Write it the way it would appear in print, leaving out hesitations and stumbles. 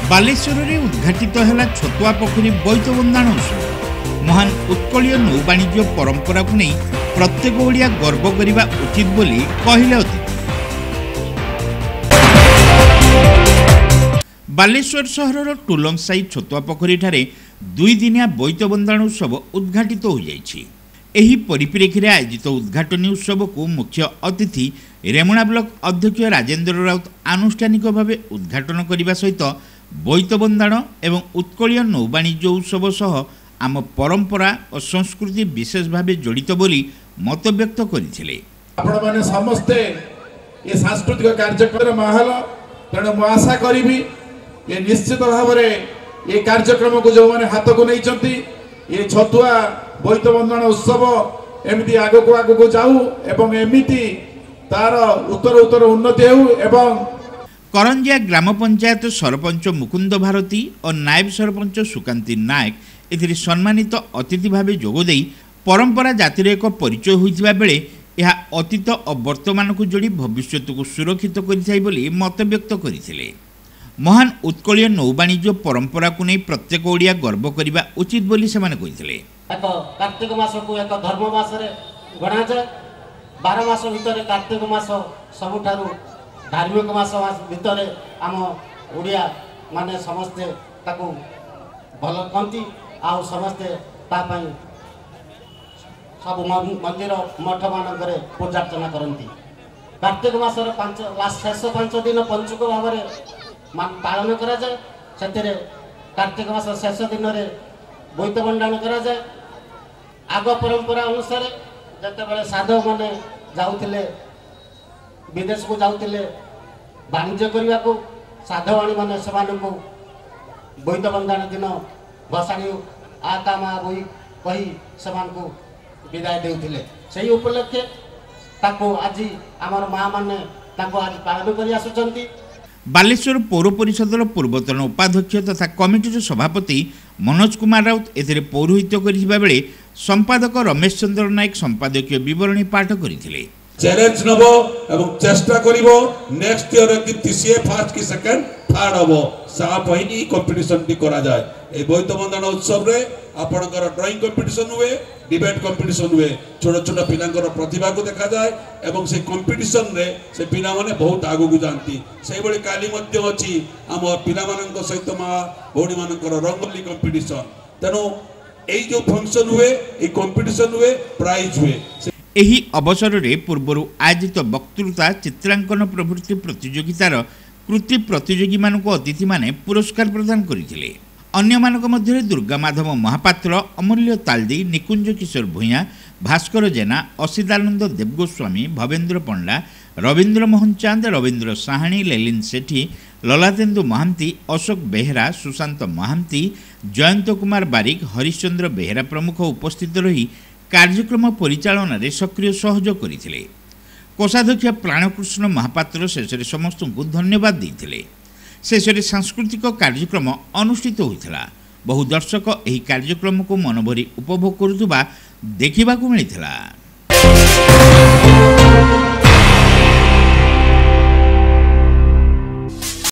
ବାଲେଶ୍ୱରରେ ଉଦ୍ଘାଟିତ ହେଲା ଛତୁଆ ପୋଖରୀ ବୋଇତ ବନ୍ଦାଣ ଉତ୍ସବ। ମହାନ ଉତ୍କଳୀୟ ନୌବାଣିଜ୍ୟ ପରମ୍ପରାକୁ ନେଇ ପ୍ରତ୍ୟେକ ଓଡ଼ିଆ ଗର୍ବ କରିବା ଉଚିତ ବୋଲି କହିଲେ ଅତିଥି। ବାଲେଶ୍ୱର ସହରର ଟୁଲଙ୍ଗସାହି ଛତୁଆ ପୋଖରୀଠାରେ ଦୁଇଦିନିଆ ବୋଇତ ବନ୍ଦାଣ ଉତ୍ସବ ଉଦ୍ଘାଟିତ ହୋଇଯାଇଛି। ଏହି ପରିପ୍ରେକ୍ଷୀରେ ଆୟୋଜିତ ଉଦ୍ଘାଟନୀ ଉତ୍ସବକୁ ମୁଖ୍ୟ ଅତିଥି ରେମୁଣା ବ୍ଲକ ଅଧ୍ୟକ୍ଷ ରାଜେନ୍ଦ୍ର ରାଉତ ଆନୁଷ୍ଠାନିକ ଭାବେ ଉଦ୍ଘାଟନ କରିବା ସହିତ ବୋଇତ ବନ୍ଦାଣ ଏବଂ ଉତ୍କଳୀୟ ନୌବାଣିଜ୍ୟ ଉତ୍ସବ ସହ ଆମ ପରମ୍ପରା ଓ ସଂସ୍କୃତି ବିଶେଷ ଭାବେ ଜଡ଼ିତ ବୋଲି ମତବ୍ୟକ୍ତ କରିଥିଲେ। ଆପଣମାନେ ସମସ୍ତେ ଏ ସାଂସ୍କୃତିକ କାର୍ଯ୍ୟକ୍ରମର ମାହୋଲ, ତେଣୁ ମୁଁ ଆଶା କରିବି ଏ ନିଶ୍ଚିତ ଭାବରେ ଏ କାର୍ଯ୍ୟକ୍ରମକୁ ଯେଉଁମାନେ ହାତକୁ ନେଇଛନ୍ତି, ଏ ଛତୁଆ ବୋଇତ ବନ୍ଦାଣ ଉତ୍ସବ ଏମିତି ଆଗକୁ ଆଗକୁ ଯାଉ ଏବଂ ଏମିତି ତାର ଉତ୍ତର ଉତ୍ତର ଉନ୍ନତି ହେଉ। ଏବଂ କରଞ୍ଜିଆ ଗ୍ରାମ ପଞ୍ଚାୟତ ସରପଞ୍ଚ ମୁକୁନ୍ଦ ଭାରତୀ ଓ ନାୟବ ସରପଞ୍ଚ ସୁକାନ୍ତି ନାୟକ ଏଥିରେ ସମ୍ମାନିତ ଅତିଥି ଭାବେ ଯୋଗଦେଇ ପରମ୍ପରା ଜାତିର ଏକ ପରିଚୟ ହୋଇଥିବା ବେଳେ ଏହା ଅତୀତ ଓ ବର୍ତ୍ତମାନକୁ ଯୋଡ଼ି ଭବିଷ୍ୟତକୁ ସୁରକ୍ଷିତ କରିଥାଏ ବୋଲି ମତବ୍ୟକ୍ତ କରିଥିଲେ। ମହାନ ଉତ୍କଳୀୟ ନୌବାଣିଜ୍ୟ ପରମ୍ପରାକୁ ନେଇ ପ୍ରତ୍ୟେକ ଓଡ଼ିଆ ଗର୍ବ କରିବା ଉଚିତ ବୋଲି ସେମାନେ କହିଥିଲେ। ଏକ କାର୍ତ୍ତିକ ମାସକୁ ଏକ ଧର୍ମ ମାସରେ ଗଣାଯାଏ। 12 ମାସ ଭିତରେ କାର୍ତ୍ତିକ ମାସ ସବୁଠାରୁ ଧାର୍ମିକ ମାସ ଭିତରେ ଆମ ଓଡ଼ିଆ ମାନେ ସମସ୍ତେ ତାକୁ ଭଲ କହନ୍ତି, ଆଉ ସମସ୍ତେ ତା ପାଇଁ ସବୁ ମନ୍ଦିର ମଠମାନଙ୍କରେ ପୂଜାର୍ଚ୍ଚନା କରନ୍ତି। କାର୍ତ୍ତିକ ମାସର ଶେଷ 5 ଦିନ ପଞ୍ଚୁକ ଭାବରେ ପାଳନ କରାଯାଏ। ସେଥିରେ କାର୍ତ୍ତିକ ମାସ ଶେଷ ଦିନରେ ବୋଇତ ବନ୍ଦାଣ କରାଯାଏ। ଆଗ ପରମ୍ପରା ଅନୁସାରେ ଯେତେବେଳେ ସାଧବମାନେ ଯାଉଥିଲେ, ବିଦେଶକୁ ଯାଉଥିଲେ ବାଣିଜ୍ୟ କରିବାକୁ, ସାଧବାଣୀମାନେ ସେମାନଙ୍କୁ ବୋଇତ ବନ୍ଦାଣ ଦିନ ଭସାଣି ଆ ତା ମା ବୋଇ କହି ସେମାନଙ୍କୁ ବିଦାୟ ଦେଉଥିଲେ। ସେହି ଉପଲକ୍ଷେ ତାକୁ ଆଜି ଆମର ମା ମାନେ ତାକୁ ଆଜି ପାଳନ କରି ଆସୁଛନ୍ତି। ବାଲେଶ୍ୱର ପୌର ପରିଷଦର ପୂର୍ବତନ ଉପାଧ୍ୟକ୍ଷ ତଥା କମିଟିର ସଭାପତି ମନୋଜ କୁମାର ରାଉତ ଏଥିରେ ପୌରୋହିତ୍ୟ କରିଥିବା ବେଳେ ସମ୍ପାଦକ ରମେଶ ଚନ୍ଦ୍ର ନାୟକ ସମ୍ପାଦକୀୟ ବିବରଣୀ ପାଠ କରିଥିଲେ। ଚ୍ୟାଲେଞ୍ଜ ନେବ ଏବଂ ଚେଷ୍ଟା କରିବ ନେକ୍ସଟ ଇୟର କେମିତି ସିଏ ଫାର୍ଷ୍ଟ କି ସେକେଣ୍ଡ ଥାର୍ଡ ହବ, ତା ପାଇଁ ହିଁ କମ୍ପିଟିସନଟି କରାଯାଏ। এই ବୋଇତ ବନ୍ଦାଣ ଉତ୍ସବରେ ଆପଣଙ୍କର ଡ୍ରଇଂ କମ୍ପିଟିସନ ହୁଏ, ଡିବେଟ୍ କମ୍ପିଟିସନ ହୁଏ, ଛୋଟ ଛୋଟ ପିଲାଙ୍କର ପ୍ରତିଭାକୁ ଦେଖାଯାଏ ଏବଂ ସେ କମ୍ପିଟିସନରେ ସେ ପିଲାମାନେ ବହୁତ ଆଗକୁ ଯାଆନ୍ତି। ସେଇଭଳି କାଲି ମଧ୍ୟ ଅଛି ଆମ ପିଲାମାନଙ୍କ ସହିତ ମା ଭଉଣୀମାନଙ୍କର ରଙ୍ଗୋଲି କମ୍ପିଟିସନ। ତେଣୁ ଏଇ ଯେଉଁ ଫଙ୍କସନ ହୁଏ, ଏଇ କମ୍ପିଟିସନ ହୁଏ, ପ୍ରାଇଜ ହୁଏ। ଏହି ଅବସରରେ ପୂର୍ବରୁ ଆୟୋଜିତ ବକ୍ତୃତା, ଚିତ୍ରାଙ୍କନ ପ୍ରଭୃତି ପ୍ରତିଯୋଗିତାର କୃତି ପ୍ରତିଯୋଗୀମାନଙ୍କୁ ଅତିଥିମାନେ ପୁରସ୍କାର ପ୍ରଦାନ କରିଥିଲେ। ଅନ୍ୟମାନଙ୍କ ମଧ୍ୟରେ ଦୁର୍ଗାମାଧବ ମହାପାତ୍ର, ଅମୂଲ୍ୟ ତାଲଦି, ନିକୁଞ୍ଜ କିଶୋର ଭୂୟାଁ, ଭାସ୍କର ଜେନା, ଅସିଦାନନ୍ଦ ଦେବଗୋସ୍ୱାମୀ, ଭବେନ୍ଦ୍ର ପଣ୍ଡା, ରବୀନ୍ଦ୍ର ମୋହନ ଚାନ୍ଦ, ରବୀନ୍ଦ୍ର ସାହାଣୀ, ଲେଲିନ ସେଠୀ, ଲଲାତେନ୍ଦୁ ମହାନ୍ତି, ଅଶୋକ ବେହେରା, ସୁଶାନ୍ତ ମହାନ୍ତି, ଜୟନ୍ତ କୁମାର ବାରିକ, ହରିଶ୍ଚନ୍ଦ୍ର ବେହେରା ପ୍ରମୁଖ ଉପସ୍ଥିତ ରହି କାର୍ଯ୍ୟକ୍ରମ ପରିଚାଳନାରେ ସକ୍ରିୟ ସହଯୋଗ କରିଥିଲେ। କୋଷାଧ୍ୟକ୍ଷ ପ୍ରାଣକୃଷ୍ଣ ମହାପାତ୍ର ଶେଷରେ ସମସ୍ତଙ୍କୁ ଧନ୍ୟବାଦ ଦେଇଥିଲେ। ଶେଷରେ ସାଂସ୍କୃତିକ କାର୍ଯ୍ୟକ୍ରମ ଅନୁଷ୍ଠିତ ହୋଇଥିଲା। ବହୁ ଦର୍ଶକ ଏହି କାର୍ଯ୍ୟକ୍ରମକୁ ମନଭରି ଉପଭୋଗ କରୁଥିବା ଦେଖିବାକୁ ମିଳିଥିଲା।